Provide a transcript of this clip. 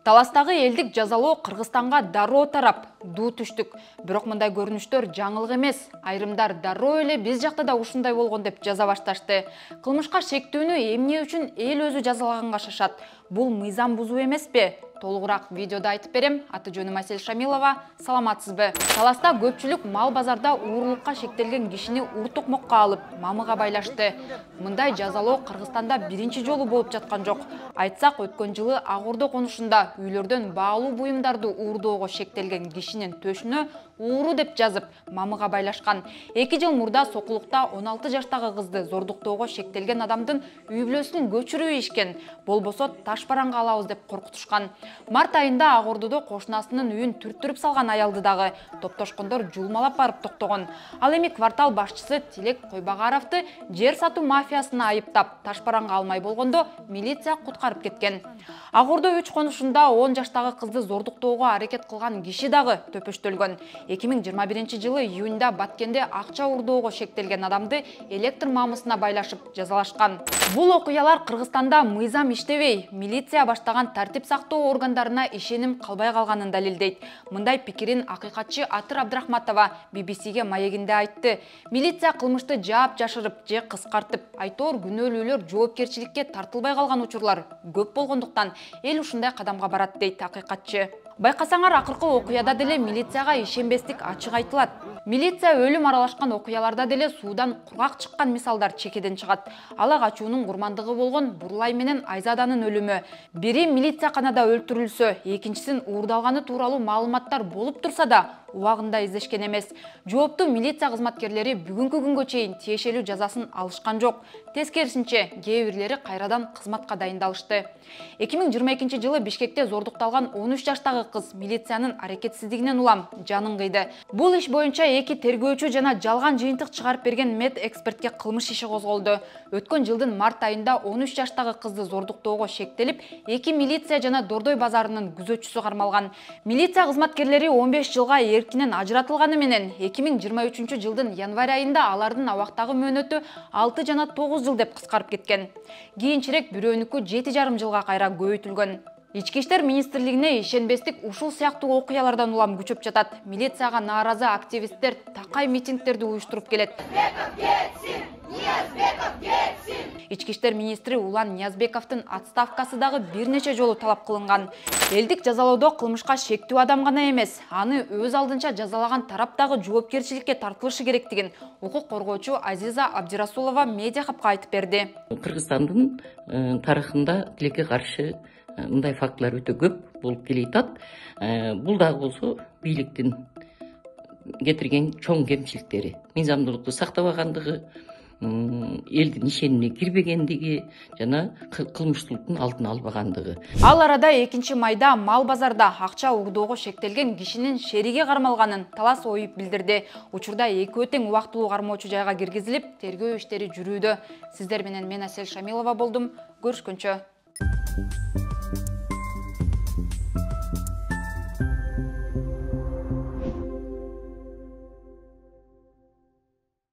Таластагы элдик жазалоо Кыргызстанга дароо тарап, дуу түштүк. Бирок мындай көрүнүштөр жаңылык эмес. Айрымдар дароо эле биз жакта да ушундай болгон деп жаза башташты. Кылмышка шектүүнү эмне үчүн эл өзү жазалаганга шашат? Бул мыйзам бузуу эмеспи? Толугураак видеодо айтып берем. Аты жөнүм Асель Шамилова. Саламатсызбы? Таласта көпчүлүк мал базарда уурулукка шектелген кишини уртукмокко алып, мамыга байлашты. Мындай жазалоо Кыргызстанда биринчи жолу болуп жаткан жок. Айтсак, өткөн жылы Ак Ордо конушунда үйлөрдөн баалуу буюмдарды уурдоого шектелген кишинин төшүнө ууру деп жазып, мамыга байлашкан. 2 жыл мурда Сокулукта 16 жаштагы кызды зордуктоого шектелген адамдын үй бүлөсүн көчүрүп ийишкен. Болбосо таш бараңга алабыз деп коркутушкан. Март айында Ак Ордодо кошунасынын үйүн түрттүрүп салган аялды дагы топтошкондор жулмалап барып токтогон. Ал эми квартал башчысы Тилек Койбагаровду жер сатуу мафиясына айыптап, таш бараңга алмай болгондо милиция куткарып кеткен. Ак Ордо 3 конушунда 10 жаштагы кызды зордуктоого аракет кылган киши дагы төпөштөлгөн. 2021 жылы июнда Баткенде акча уурдоого шектелген адамды электр мамысына байлашып жазалашкан. Бул окуялар Кыргызстанда мыйзам иштебей, милиция баштаган тартип сактоо органдарына ишеним калбай калганын далилдейт. Мындай пикирин акыйкатчы Атыр Абдрахматова BBC-ге маегинде айтты. Милиция кылмышты жаап жашырып же кыскартып, айтор күнөөлүүлөр жоопкерчиликке тартылбай калган учурлар көп болгондуктан эл ушундай кадамга барат дейт акыйкатчы. Байкасаңар, акыркы окуяда деле милицияга ишенбестик ачык айтылат. Милиция өлүм аралашкан окуяларда деле суудан кургак чыккан мисалдар чекеден чыгат. Ала качуунун курмандыгы болгон Бурлай менен Айзаданын өлүмү. Бири милицияканада өлтүрүлсө, экинчисин уурдалганы тууралуу маалыматтар болуп турса да, убагында издешкен эмес. Жооптуу милиция кызматкерлери бүгүнкү күнгө чейин тиешелүү жазасын алышкан жок. Тескерисинче, кээ бирлери кайрадан кызматка дайындалышты. 2022 жылы Бишкекте зордукталган 13 жаштагы кыз милициянын аракетсиздигинен улам жанын кыйды. Бул иш боюнча 2 тергөөчү жана жалган жыйынтык чыгарып берген мед экспертке кылмыш иши козголду. Өткөн жылдын март айында 13 жаштагы кызды зордуктоого шектелип, 2 милиция жана Дордой базарынын күзөтчүсү кармалган. Милиция кызматкерлери 15 жылга эркинен ажыратылганы менен 2023 жылдын январь айында алардын абактагы мөөнөтү 6 жана 9 жыл деп кыскарып кеткен. Кийинчерээк бирөөнүкү 7,5 жылга кайра көбөйтүлгөн. Ички иштер министрлигине ишенбестик ушул сыяктуу окуялардан улам күчөп жатат. Милицияга нааразы активисттер такай митингдерди уюштуруп келет. Ички иштер министри Улан Ниязбековдун отставкасы дагы бир нече жолу талап кылынган. Элдик жазалоодо кылмышка шектүү адам гана эмес, аны өз алдынча жазалаган тарап дагы жоопкерчиликке тартылышы керектигин укук коргоочу Азиза Абдирасулова медиа хабка айтып берди. Кыргызстандын тарыхында тилекке каршы мындай фактылар өтө көп болуп келатат. Бул дагы болсо бийликтин кетирген чоң кемчиликтери. Мыйзамдуулукту сактабагандыгы, элдин ишенимине кирбегендиги жана кылмыштуулуктун алдын албагандыгы. Ал арада 2 майда мал базарда акча уурдоого шектелген кишинин шериги кармалганын Талас ОИП билдирди. Учурда экөө тең убактылуу кармоочу жайга киргизилип, тергөө иштери жүрүүдө. Сиздер менен мен Асель Шамилова болдум. Көрүшкөнчө.